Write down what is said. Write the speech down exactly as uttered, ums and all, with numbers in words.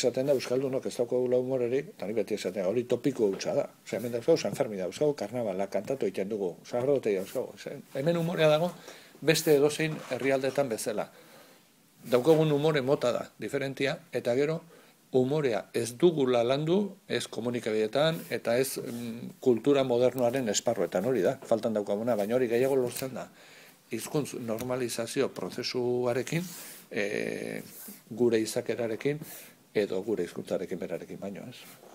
Esaten da, Euskaldunok ez daukagula humorerik, eta ni beti esaten, hori topiko hutsa da. Osea, hemen dauzkagu San Fermin dauzkagu, karnavala, kantatu egiten dugu, sagardotei dauzkagu. Hemen humorea dago, beste edozein herrialdetan bezala. Daukagun humore mota da, diferentia, eta gero, humorea ez dugula landu, ez komunikabideetan, eta ez mm, kultura modernoaren esparruetan hori da, faltan daukaguna, baina hori gehiago lortzen da. Hizkuntz normalizazio prozesuarekin, e, gure izakerarekin, edo gure hizkuntzarekin berarekin baino ez.